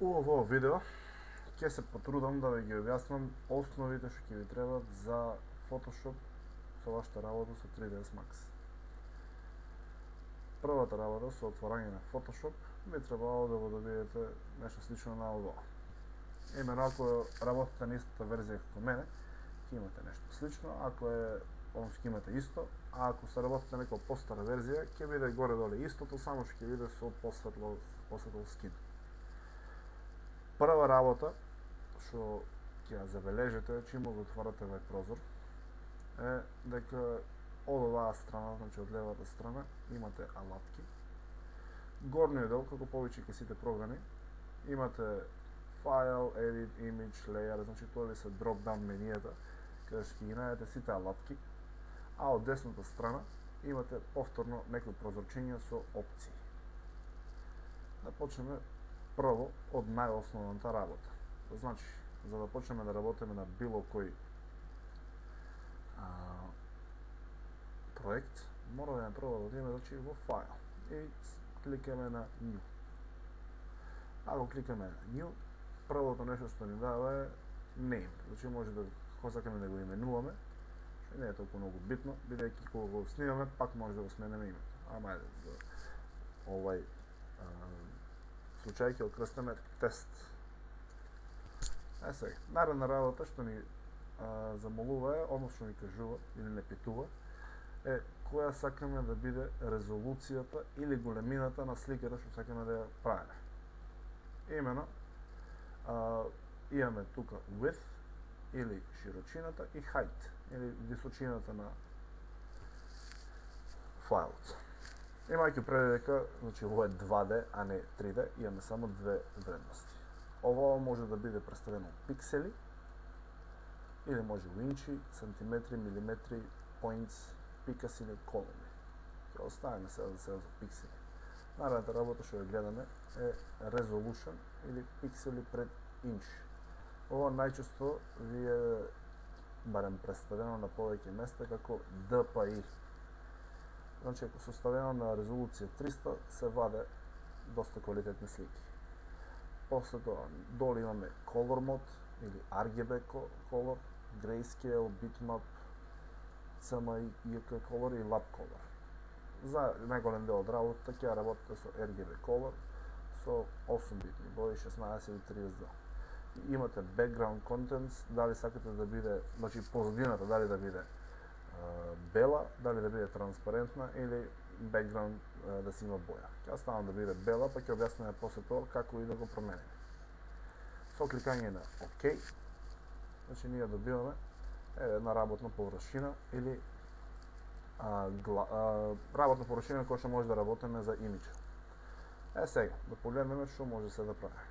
У овој видео ќе се потрудам да ви ги објаснам основите што ќе ви требаат за Photoshop со вашата работа со 3ds Max. Првата работа со отворање на Photoshop би требало да го добиете нешто слично на ово. Именно ако работите на истата верзија како мене, ќе имате нешто слично, ако ќе имате исто, а ако се работите на некоја постара верзија, ќе биде горе-доле истото, само што ќе биде со посветло скин. Прва работа што ќе ја забележите чим го отворате овој прозор е дека од оваа страна, значи од левата страна, имате алатки. Горниот дел, како повеќе ке сите програми, имате File, Edit, Image, Layer, значи тоа ви се drop-down менијата, каде што ќе ги најдете сите алатки, а од десната страна имате повторно некои прозорчиња со опции. Да почнеме прво од најосновната работа. Значи, за да почнеме да работиме на било кој проект, мора да прво да одиме во File и кликаме на New. Ако кликаме на New, првото нешто што ни дава е Name. Значи може да ако сакаме да го именуваме, што не е толку многу битно, бидејќи кога го снимаме, пак може да го смениме името. Ама ајде, за овај случај ќе окрстиме тест. Сега, наредна работа што ни замолува е, односно ни кажува или не питува, е која сакаме да биде резолуцијата или големината на сликата што сакаме да ја правиме. Имено, имаме тука width или широчината и height или височината на фајлот. Имајќи предвид дека, значи ова е 2D, а не 3D, имаме само две вредности. Ова може да биде представено во пиксели или може во инчи, сантиметри, милиметри, points, пикас или колони. Ќе оставиме сега за пиксели. Наредната работа што ја гледаме е resolution или пиксели пред инч. Ова најчесто ви е барем представено на повеќе места како DPI. Значи, ако составено на резолуција 300, се ваде доста квалитетни слики. После тоа, долу имаме Color Mode или RGB Color, Grayscale, Bitmap, CMYK Color и Lab Color. За најголем дел од работата ќе работите со RGB Color со 8 битни бои, 16 или 32. Имате background contents, дали сакате да биде, значи позадината дали да биде бела, дали да биде транспарентна или background да си има боја. Ќе ставам да биде бела, па ќе објасниме после тоа како и да го промениме. Со кликање на OK, значи ние добиваме една работна површина или работна површина која што може да работиме за имидж. Сега, да погледнеме што може се да прави.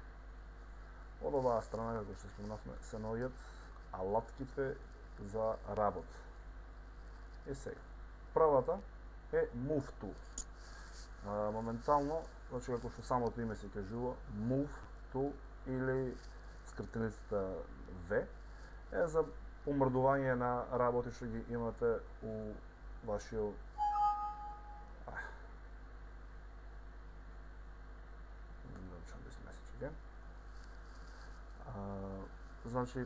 Од оваа страна, како што спомнавме, се наоѓаат алатките за работа. И сега, првата е Move Tool. Моментално, значи како што самото име се кажува, Move Tool или скратеницата V е за помрдување на работи што ги имате у вашиот значи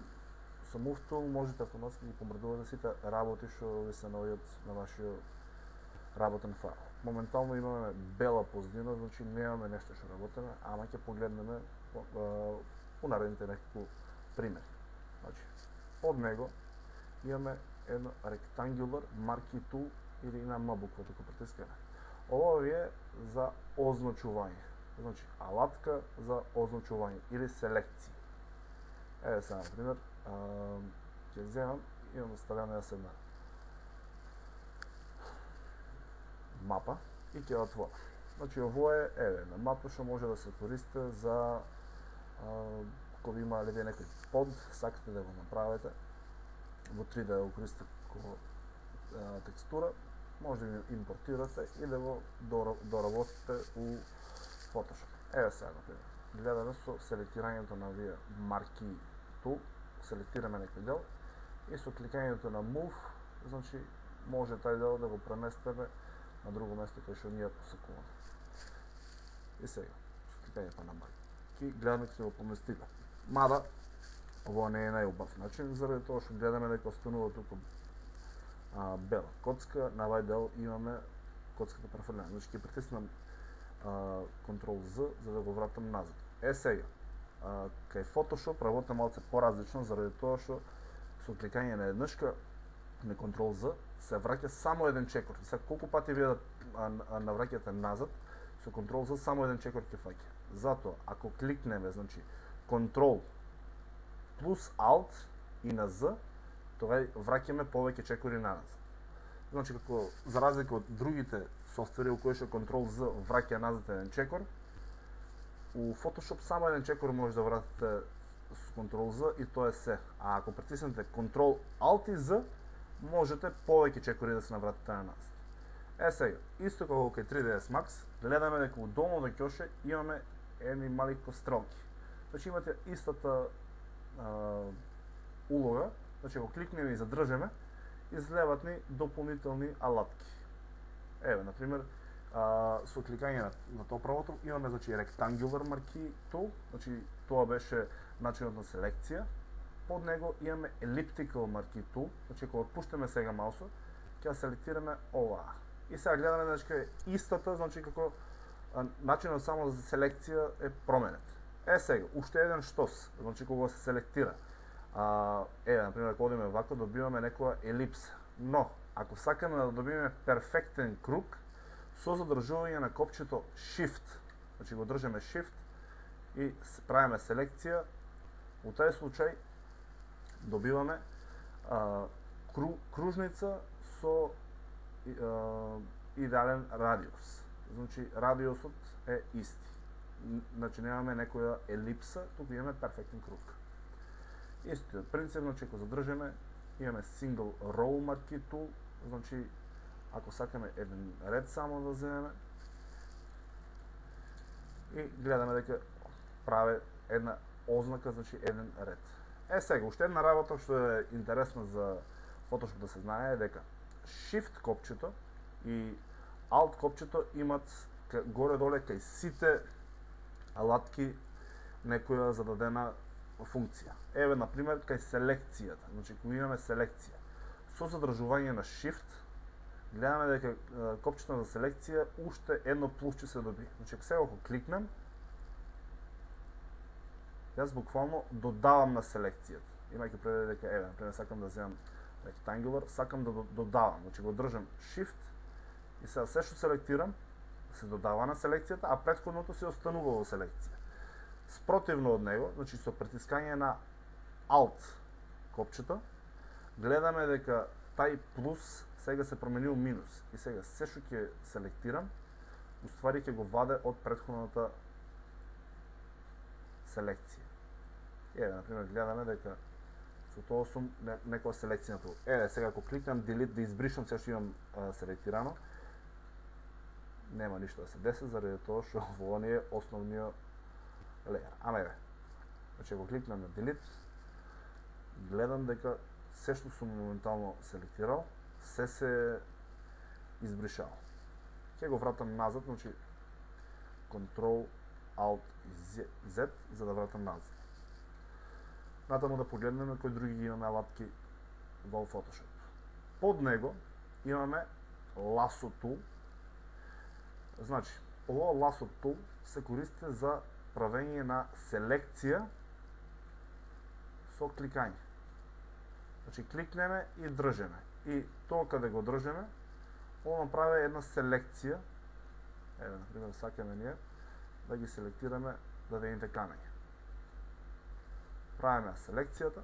со Move Tool можете автоматски да ги помрдувате сите работи што ви се наоѓаат на вашиот работен файл. Моментално имаме бела позадина, значи немаме нешто што работиме, ама ќе погледнеме по наредните неколку примери. Значи, под него имаме едно rectangular marquee tool или на М буква тука притискаме. Ова е за означување. Значи, алатка за означување или селекција. Еве сега, например, ќе земам, имам ставена една мапа и ќе отворам. Значи, ово е една мапа што може да се користи за кога имале некој под, сакате да го направите во 3D да го користите како текстура, може да го импортирате и да го доработите у Photoshop. Еве сега, например, гледаме со селектирањето на овие марки tool, селектираме некој дел и со кликањето на Move, значи може тај дел да го преместиме на друго место кај што ние посакуваме. И сега, со кликањето на ки гледаме ќе го поместиме. Мада ово не е најубав начин, заради тоа што гледаме дека останува туку бела коцка, на овај дел имаме коцката префрлена. Значи ќе притиснам Ctrl Z за да го вратам назад. Сега, кај Photoshop работа малце поразлично, заради тоа што со кликање на еднашка на Ctrl Z се враќа само еден чекор. Сега колку пати вие да навраќате назад, со Ctrl Z само еден чекор ќе фаќа. Затоа, ако кликнеме, значи Ctrl плюс Alt и на Z, тогаш враќаме повеќе чекори назад. Значи, како за разлика од другите софтвери у кои што Ctrl Z враќа назад еден чекор, у Photoshop само еден чекор може да вратите с Ctrl Z и тоа е се. А ако притиснете Ctrl Alt и Z, можете повеќе чекори да се навратите на назад. Сега, исто како кај 3ds Max, гледаме дека у долната ќоше имаме едни мали кострелки. Значи имате истата улога, значи ако кликнеме и задржеме, излеват ни дополнителни алатки. Еве, например, со кликање на тоа правото имаме значи Rectangular Marquee Tool, значи тоа беше начинот на селекција. Под него имаме Elliptical Marquee Tool, значи ако отпуштаме сега маусот, ќе селектираме оваа. И сега гледаме значи истата, значи како начинот само за селекција е променет. Сега, уште еден штос, значи кога се селектира. Еве, например, ако одиме вако, добиваме некоја елипса. Но, ако сакаме да добиеме перфектен круг, со задржување на копчето Shift, значи го држиме Shift и правиме селекција, у тај случај добиваме кружница со идеален радиус. Значи, радиусот е исти. Значи, немаме некоја елипса, туку имаме перфектен круг. Истиот принцип, значи, ако задржиме, имаме Single Row Marquee Tool, значи, ако сакаме еден ред само да земеме, и гледаме дека прави една ознака, значи еден ред. Сега, уште една работа што е интересна за Photoshop да се знае е дека Shift копчето и Alt копчето имат горе-доле кај сите алатки некоја зададена функција. Еве, например, кај селекцијата, значи кога имаме селекција, со задржување на Shift, гледаме дека копчето за селекција уште едно плусче се доби. Значи, сега ако кликнем, јас буквално додавам на селекцијата. Имајќи предвид дека, еве, например, сакам да земам Rectangular, сакам да додавам. Значи, го држам Shift и сега се што селектирам, се додава на селекцијата, а претходното се останува во селекција. Спротивно од него, значи со притискање на Alt копчето, гледаме дека тај плюс сега се променил минус. И сега се што ќе селектирам, уствари ќе го ваде од претходната селекција. Еве, например, гледаме дека со тоа сум некоја селекција на тоа. Еве, сега ако кликнам Delete да избришам се што имам селектирано, нема ништо да се деси, заради тоа што ово не е основниот леер. Ама еве, значи ако кликнам на Delete, гледам дека се што сум моментално селектирал, се избришал. Ќе го вратам назад, значи Ctrl, Alt и Z за да вратам назад. Натаму да погледнеме кои други имаме алатки во Photoshop. Под него имаме Lasso Tool. Значи, ово Lasso Tool се користи за правење на селекција со кликање. Значи, кликнеме и држеме. И тоа каде го држеме, ово направи една селекција. Еве, например, сакаме ние да ги селектираме дадените камења. Правиме селекцијата,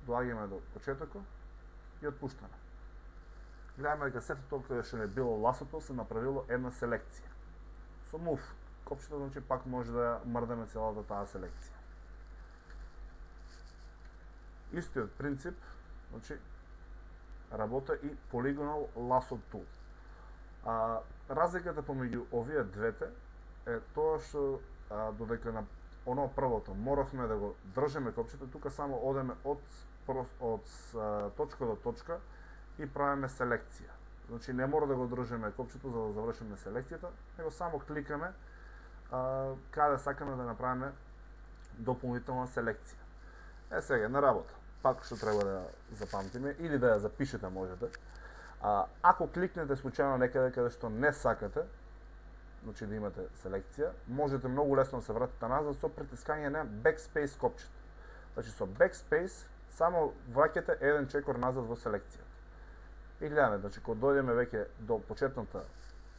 доаѓаме до почетокот и отпуштаме. Гледаме дека сето тоа каде што не било ласото се направило една селекција. Со Move копчето, значи пак може да мрдаме целата таа селекција. Истиот принцип, значи работа и Polygonal Lasso Tool. Разликата помеѓу овие двете е тоа што додека на оно првото моравме да го држеме копчето, тука само одеме од точка до точка и правиме селекција. Значи не мора да го држеме копчето за да завршиме селекцијата, него само кликаме каде сакаме да направиме дополнителна селекција. Сега на работа, пак што треба да запамтиме или да ја запишете можете. Ако кликнете случајно некаде каде што не сакате, значи да имате селекција, можете многу лесно да се вратите назад со притискање на backspace копчето. Значи со backspace само враќате еден чекор назад во селекцијата. И гледаме, значи кога дојдеме веќе до почетната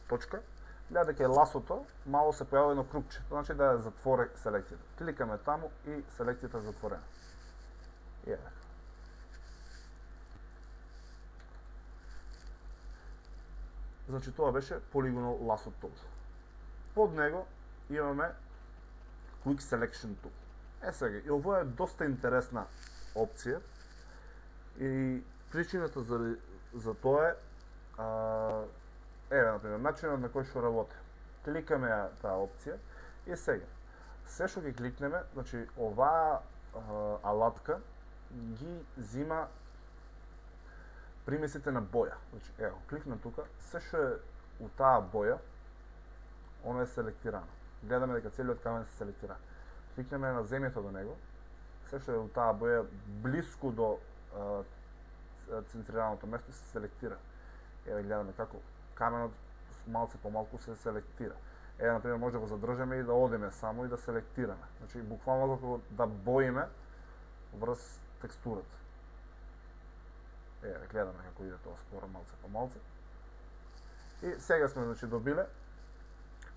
точка, гледате дека ласото мало се појавува едно крупче, значи да ја затвори селекцијата. Кликаме таму и селекцијата е затворена. И еве. Значи тоа беше Polygonal Lasso Tool. Под него имаме Quick Selection Tool. Сега, и ово е доста интересна опција и причината за тоа е например, начинот на кој што работи. Кликаме таа опција и сега, се што ги кликнеме, значи оваа алатка ги зима примесите на боја. Значи, ево, кликнам тука, се што е у таа боја, оно е селектирано. Гледаме дека целиот камен се селектира. Кликнеме на земјето до него, се што е у таа боја блиску до центрираното место се селектира. Еве гледаме како каменот малце по малку се селектира. Еве например може да го задржиме и да одиме само и да селектираме. Значи буквално како да боиме врз текстурата. Еве гледаме како иде тоа споро малце по малце. И сега сме значи добиле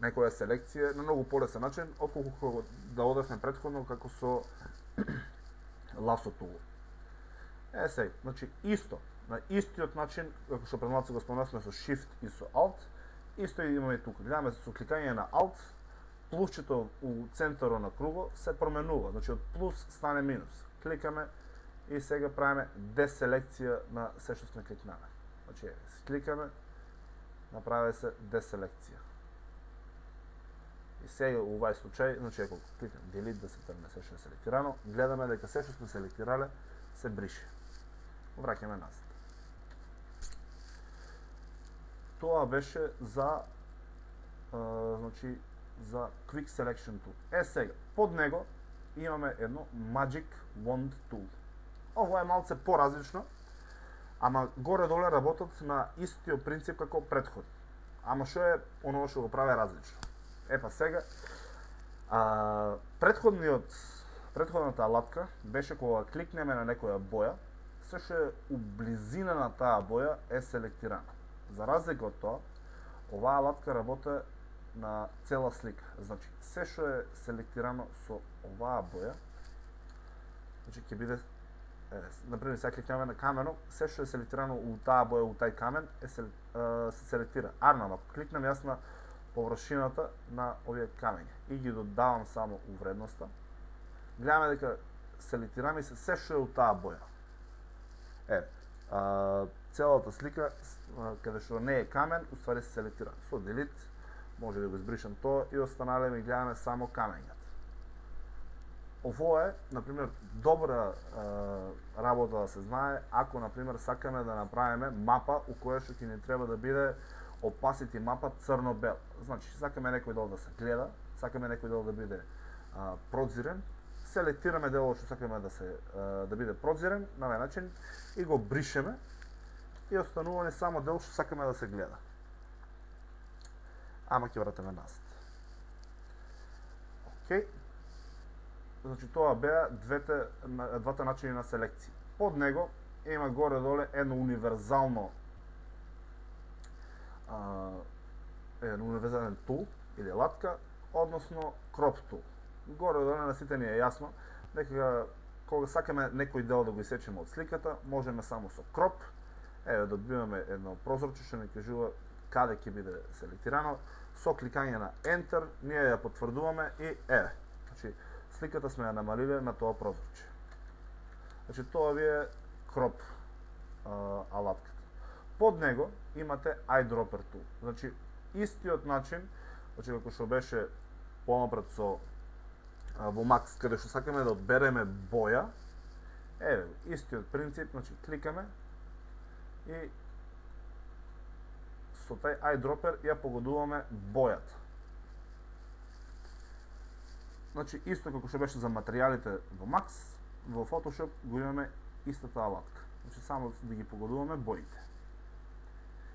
некоја селекција на многу полесен начин отколку да одевме претходно како со Lasso Tool. Сега, значи исто, на истиот начин, како што пред малку го спомнавме со Shift и со Alt, исто имаме и тука. Гледаме со кликање на Alt, плусчето у центарот на кругот се променува, значи од плюс стане минус. Кликаме и сега правиме деселекција на се што сме кликнале. Значи, кликаме, направи се деселекција. И сега у овај случај, значи ако кликнем Delete да се тргне се што е селектирано, гледаме дека се што сме селектирале се брише. Враќаме назад. Тоа беше за значи за Quick Selection Tool. Сега, под него имаме едно Magic Wand Tool. Ово е малце поразлично, ама горе-доле работат на истиот принцип како претходно. Ама што е оно што го прави различно? Епа сега, претходната алатка беше кога кликнеме на некоја боја, се што е у близина на таа боја е селектирано. За разлика од тоа, оваа алатка работи на цела слика. Значи, се што е селектирано со оваа боја, значи ќе биде, например, сега кликнеме на каменот, се што е селектирано у таа боја, у тај камен, се селектира. Арнам, ако кликнем јас на површината на овие камења и ги додавам само у вредноста, гледаме дека селектираме се што е у таа боја. Целата слика, каде што не е камен, уствари се селектира. Со Delete може да го избришам тоа и останале ми гледаме само камењата. Ово е, например, добра работа да се знае, ако, например, сакаме да направиме мапа у која што ќе ни треба да биде opacity мапа црно-бел. Значи, сакаме некој дел да се гледа, сакаме некој дел да биде прозирен, селектираме делот што сакаме да биде прозирен на овој начин и го бришеме и останува само дел што сакаме да се гледа. Ама ќе вратиме назад. Океј. Значи тоа беа двата начини на селекција. Под него има горе-доле едно универзален тул или латка, односно crop tool. Горе-доле на сите ни е јасно дека кога сакаме некој дел да го исечеме од сликата, можеме само со crop, добиваме едно прозорче што ни кажува каде ќе биде селектирано, со кликање на Enter, ние ја потврдуваме и значи сликата сме ја намалиле на тоа прозорче. Значи тоа ви е crop алатката. Под него имате Eyedropper Tool. Значи истиот начин, значи како што беше понапред со во Max, каде што сакаме да одбереме боја, истиот принцип, значи кликаме и со тај eyedropper ја погодуваме бојата. значи исто како што беше за материјалите во Max, во Photoshop го имаме истата алатка. Значи само да ги погодуваме боите.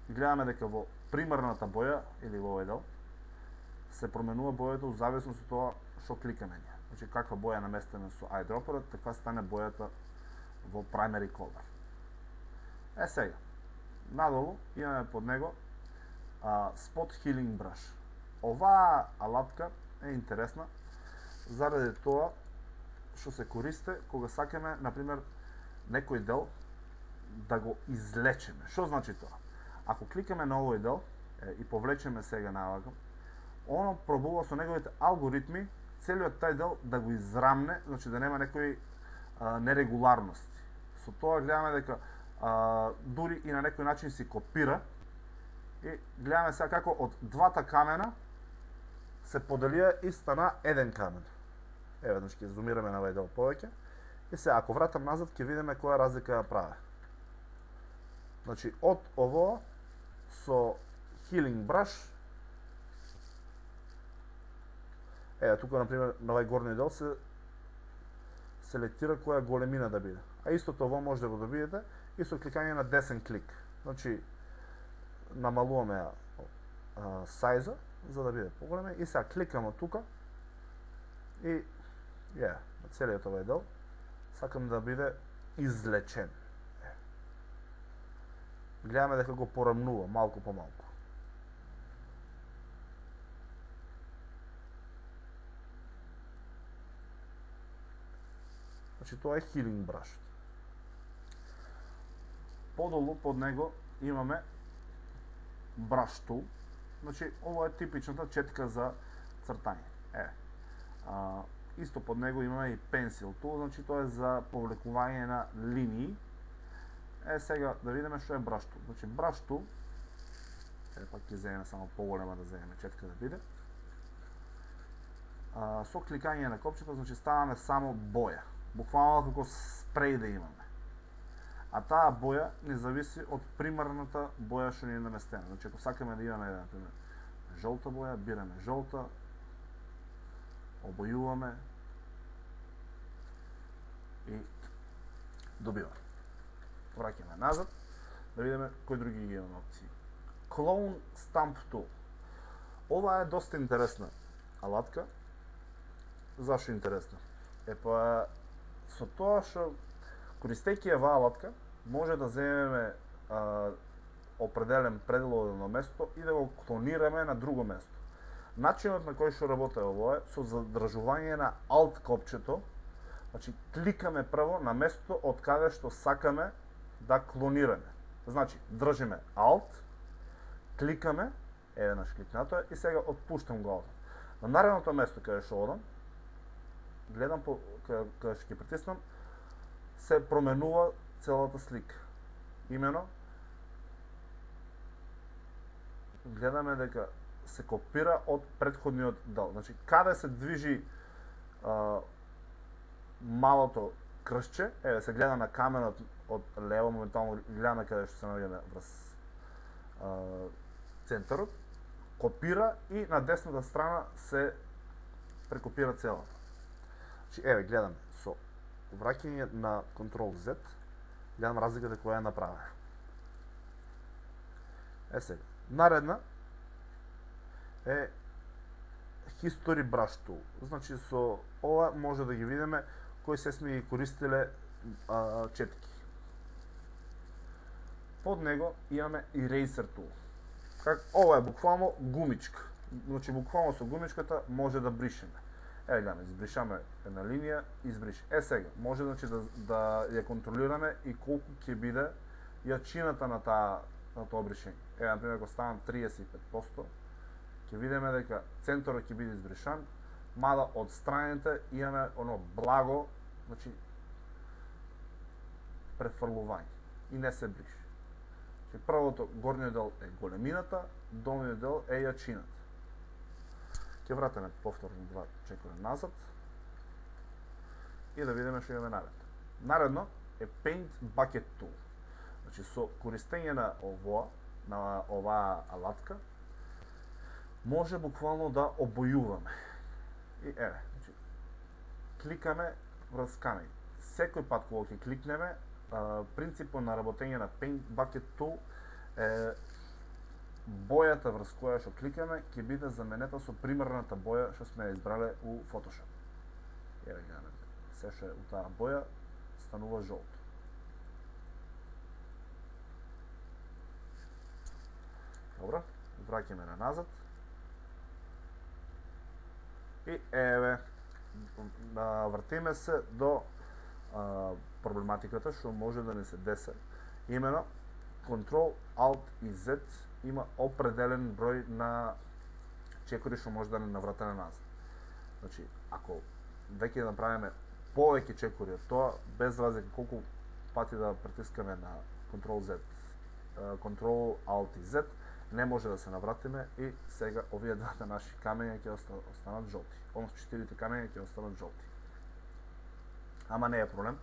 И гледаме дека во примарната боја или во овој дел се променува бојата во зависност од тоа што кликаме ние. Значи каква боја наместена со eyedropperот, таква стане бојата во primary color. Сега, надолу имаме под него Spot Healing Brush. Оваа алатка е интересна заради тоа што се користи кога сакаме, например, некој дел да го излечеме. Што значи тоа? Ако кликаме на овој дел и повлечеме сега навака, оно пробува со неговите алгоритми целиот тај дел да го израмне, значи да нема некои нерегуларности. Со тоа гледаме дека дури и на некој начин си копира и гледаме сега како од двата камена се поделија и стана еден камен. Еве, значи ќе зумираме на овој дел повеќе. И сега, ако вратам назад, ќе видиме која разлика ја прави. Значи, од ово со Healing Brush, еве, тука, например, на овој горни дел се селектира која големина да биде. А истото ово може да го добиете и со кликање на десен клик. Значи, намалуваме сајза, за да биде поголеме, и сега кликаме тука и на целиот овој дел сакам да биде излечен. Гледаме дека го порамнува малку по малку. Значи тоа е Healing Brush. Подолу под него имаме Brush Tool. Значи ова е типичната четка за цртање. Исто под него имаме и Pencil Tool, значи тоа е за повлекување на линии. Сега да видиме што е Brush Tool. Значи Brush Tool, пак ќе земеме само поголема да земеме четка да биде. Со кликање на копчето, значи ставаме само боја. Буквално како спреј да имаме. А таа боја не зависи од примарната боја што ни е наместена. Значи ако сакаме да имаме, например, жолта боја, бираме жолта, обојуваме и добиваме. Враќаме назад, да видиме кои други ги имаме опции. Clone Stamp Tool. Ова е доста интересна алатка. Зашо интересна? Со тоа што користејќи оваа алатка може да земеме определен пределно место и да го клонираме на друго место. Начинот на кој што работи ово е со задржување на Alt копчето. Значи кликаме прво на место од каде што сакаме да клонираме. Значи држиме Alt, кликаме, еве наш кликнато е, и сега отпуштам го Alt. На наредното место каде што одам, гледам каде што ќе притиснам, се променува целата слика. Имено гледаме дека се копира од претходниот дел. Значи каде се движи малото кршче, еве се гледа на каменот од лево, моментално гледаме каде што се наоѓаме врз центарот, копира и на десната страна се прекопира целата. Значи еве гледаме со враќање на Ctrl Z, гледам разликата која е направена. Сега, наредна е History Brush Tool. Значи со ова може да ги видиме кои се сме ги користиле четки. Под него имаме Eraser Tool. Ова е буквално гумичка. Значи буквално со гумичката може да бришеме. Еве гледаме, избришаме една линија, избриш. Сега, може значи да ја контролираме и колку ќе биде јачината на тоа бришење. Еве, например, ако ставам 35%, ќе видиме дека центарот ќе биде избришан, мада од страните имаме оно благо, значи префрлување и не се бриши. Значи првото горниот дел е големината, долниот дел е јачината. Ќе вратиме повторно два чекора назад и да видиме што имаме наредно. Наредно е Paint Bucket Tool. Значи со користење на оваа алатка може буквално да обојуваме. И еве, значи кликаме врз камења. Секој пат кога ќе кликнеме, принципот на работење на Paint Bucket Tool е бојата врз која што кликаме ќе биде заменета со примерната боја што сме избрале у Photoshop. Еве ги се што у таа боја станува жолто. Добро, враќаме на назад. И еве, вртиме се до проблематиката што може да не се десе. Имено, Ctrl, Alt и Z има определен број на чекори што може да не наврате на назад. Значи, ако веќе да направиме повеќе чекори од тоа, без разлика колку пати да притискаме на Ctrl Z, Ctrl Alt и Z, не може да се навратиме и сега овие двата наши камења ќе останат жолти. Односно 4 камења ќе останат жолти. Ама не е проблем,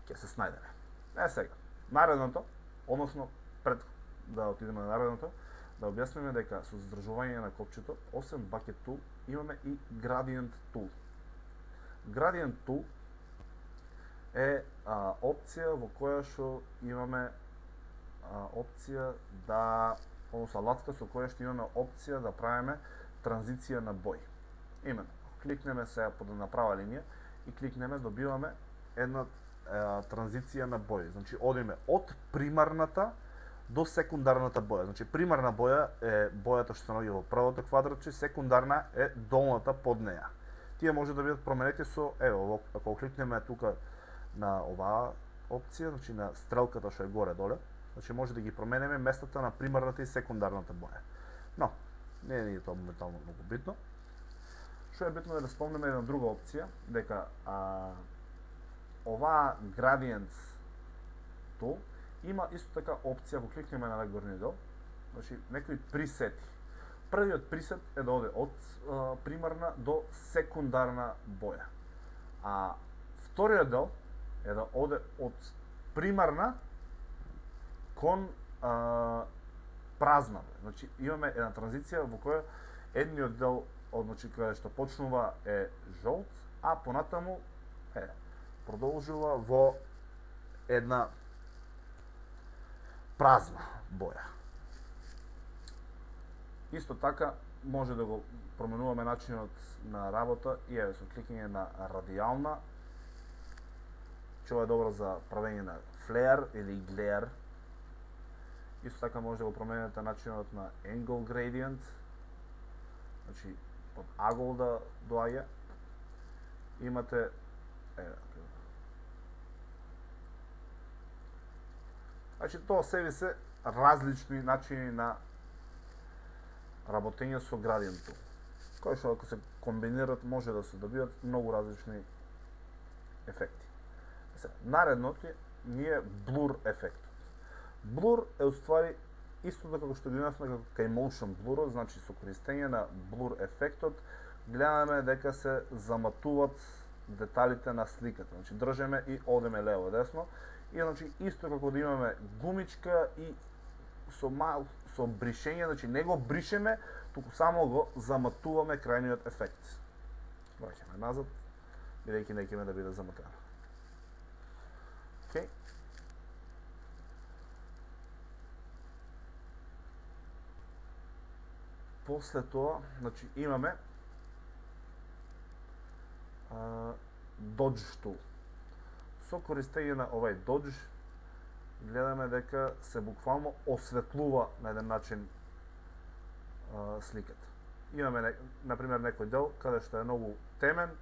ќе се снајдеме. Сега, наредното, односно пред да отидеме на наредното, да објасниме дека со задржување на копчето, освен Bucket Tool, имаме и Gradient Tool. Gradient Tool е опција во која што имаме опција да, односно алатка со која што имаме опција да правиме транзиција на бој. Именно, кликнеме сега под направа линија и кликнеме, добиваме една транзиција на бој. Значи, одиме од примарната до секундарната боја. Значи, примарна боја е бојата што се наоѓа во првото квадратче, секундарна е долната под неја. Тие може да бидат променети со, ево, ако кликнеме тука на оваа опција, значи на стрелката што е горе-доле, значи може да ги променеме местата на примарната и секундарната боја. Но, не е тоа моментално многу битно. Што е битно е да спомнеме една друга опција, дека оваа Gradient Tool има исто така опција, ако кликнеме на најгорниот дел, значи некои пресети. Првиот пресет е да оде од примарна до секундарна боја. А вториот дел е да оде од примарна кон празна боја. Значи имаме една транзиција во која едниот дел, значи каде што почнува е жолт, а понатаму продолжува во една празна боја. Исто така може да го променуваме начинот на работа и еве со кликање на радијална, што е добро за правење на флеер или глеер. Исто така може да го промените начинот на angle gradient, значи под агол да доаѓа. Имате значи тоа себе се различни начини на работење со Gradient Tool, кои што ако се комбинират може да се добијат многу различни ефекти. Наредното ни е Blur ефектот. Blur е уствари исто како што гледавме како кај Motion Blur, значи со користење на Blur ефектот гледаме дека се заматуваат деталите на сликата. Значи држеме и одеме лево десно и значи исто како да имаме гумичка и со бришење, значи не го бришеме, туку само го заматуваме крајниот ефект. Враќаме назад, бидејќи не ќе да биде заматено. Океј. После тоа, значи имаме Dodge Tool. Со користење на овај Dodge гледаме дека се буквално осветлува на еден начин сликата. Имаме, например, некој дел каде што е многу темен,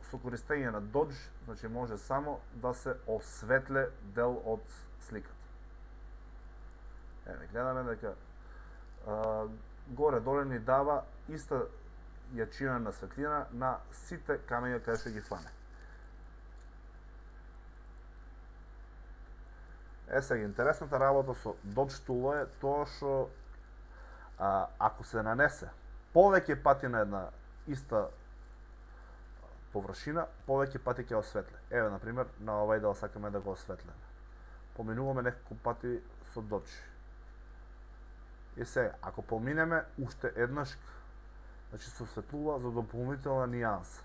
со користење на Dodge, значи може само да се осветле дел од сликата. Еве, гледаме дека горе-доле ни дава иста јачина на светлина на сите камења каде што ги фане. Сега, интересната работа со Dodge Tool е тоа што ако се нанесе повеќе пати на една иста површина, повеќе пати ќе осветле. Еве, например, на овај дел сакаме да го осветлеме. Поминуваме неколку пати со Dodge. И сега, ако поминеме уште еднаш, значи се осветлува за дополнителна нијанса.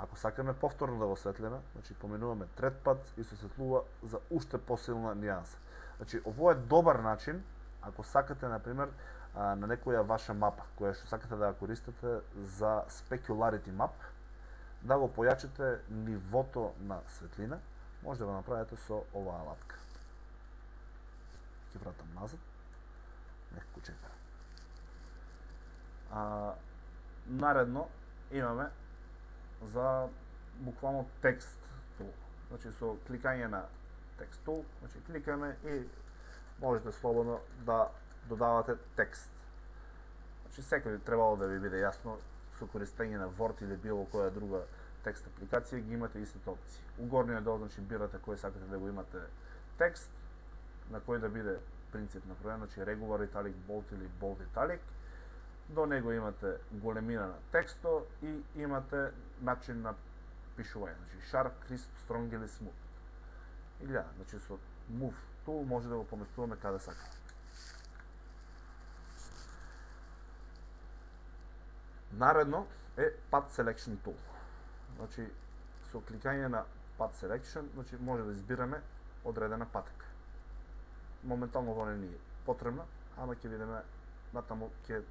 Ако сакаме повторно да го осветлиме, значи поминуваме трет пат и се осветлува за уште посилна нијанса. Значи ово е добар начин ако сакате на пример на некоја ваша мапа која што сакате да ја користите за specularity map, да го појачите нивото на светлина, може да го направите со оваа алатка. Ќе вратам назад. Некако чека. Наредно имаме за буквално текст tool. Значи со кликање на текст tool, значи кликаме и можете слободно да додавате текст. Значи секој требало да ви биде јасно со користење на Word или било која друга текст апликација ги имате истите опции. У горниот дел значи бирате кој сакате да го имате текст, на кој да биде принцип направен, значи regular italic bold или bold italic. До него имате големина на тексто и имате начин на пишување, значи sharp, crisp, strong или smooth. Или значи со move tool може да го поместуваме каде сакаме. Наредно е path selection tool. Значи со кликање на path selection, значи може да избираме одредена патека. Моментално во не е потребна, ама ќе видиме натаму ќе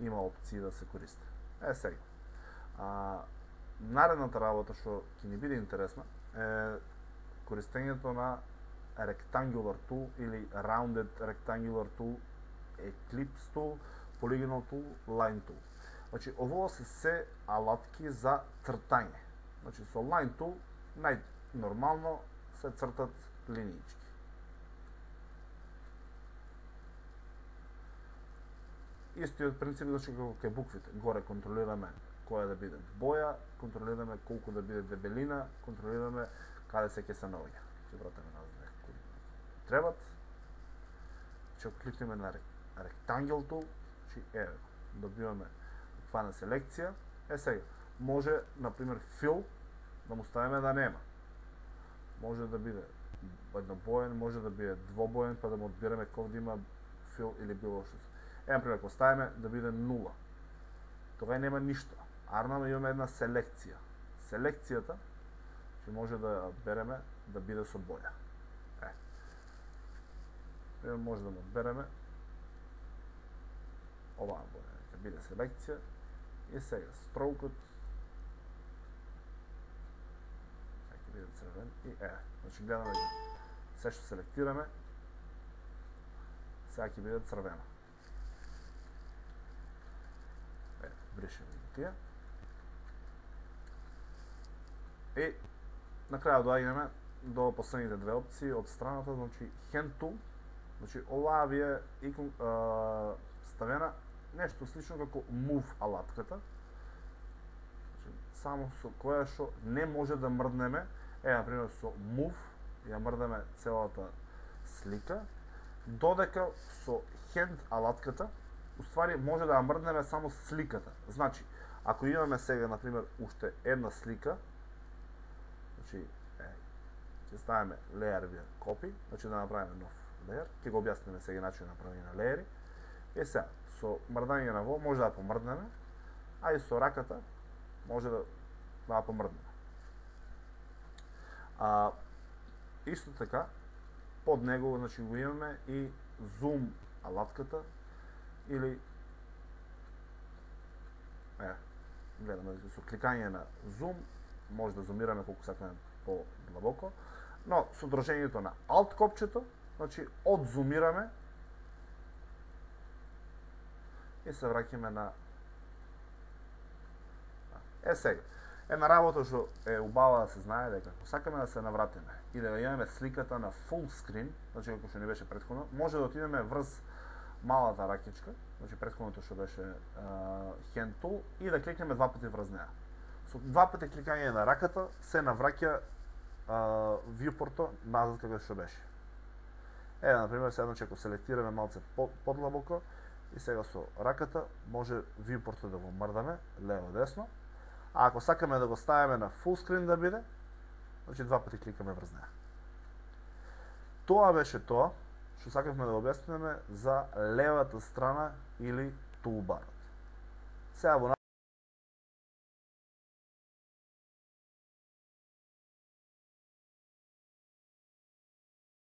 има опции да се користи. Сега. Наредната работа што ќе ни биде интересна е користењето на rectangular tool или rounded rectangular tool, ellipse tool, polygonal tool, line tool. Значи ово се алатки за цртање. Значи со line tool најнормално се цртат линиички. Истиот принцип значи како кај буквите. Горе контролираме која да биде боја, контролираме колку да биде дебелина, контролираме каде се ќе се наоѓа. Ќе вратиме назад некако требат. Ќе кликнеме на rectangle tool, значи добиваме фана селекција. Сега може на пример fill да му ставиме да нема. Може да биде еднобоен, може да биде двобоен, па да му одбираме кој да има fill или било што. Например, ако ставиме да биде 0, тога нема ништо. Арнаме имаме една селекција. Селекцијата ќе може да береме да биде со боја. Може да му одбереме оваа боја, ќе биде селекција. И сега строкот ќе биде црвен и значи гледаме се што селектираме, сега ќе биде црвено. Бришеме тие. И на крајот доаѓаме до последните две опции од страната, значи hand tool. Значи оваа ви е ставена нешто слично како move алатката. Значи само со која што не може да мрднеме, на пример со move ја мрдаме целата слика, додека со hand алатката уствари може да ја мрднеме само сликата. Значи, ако имаме сега, например, уште една слика, значи, ќе ставиме layer via copy, значи да направиме нов layer, ќе го објасниме сега начин на правење на леери. И сега, со мрдање на во може да ја помрднеме, а и со раката може да ја помрднеме. Исто така, под него значи го имаме и zoom алатката, или гледаме со кликање на zoom може да зумираме колку сакаме по-длабоко, но со држењето на alt копчето, значи одзумираме и се враќаме на сега. Една работа што е убава да се знае дека ако сакаме да се навратиме и да имаме сликата на full screen, значи како што ни беше претходно, може да отидеме врз малата ракичка, значи претходното што беше hand tool, и да кликнеме два пати врз неа. Со два пати кликање на раката се навраќа viewport-то назад како што беше. На пример, сега значи ако селектираме малце подлабоко и сега со раката може viewport-то да го мрдаме лево-десно, а ако сакаме да го ставиме на full screen да биде, значи два пати кликаме врз неа. Тоа беше тоа што сакавме да објасниме за левата страна или toolbar. Сега во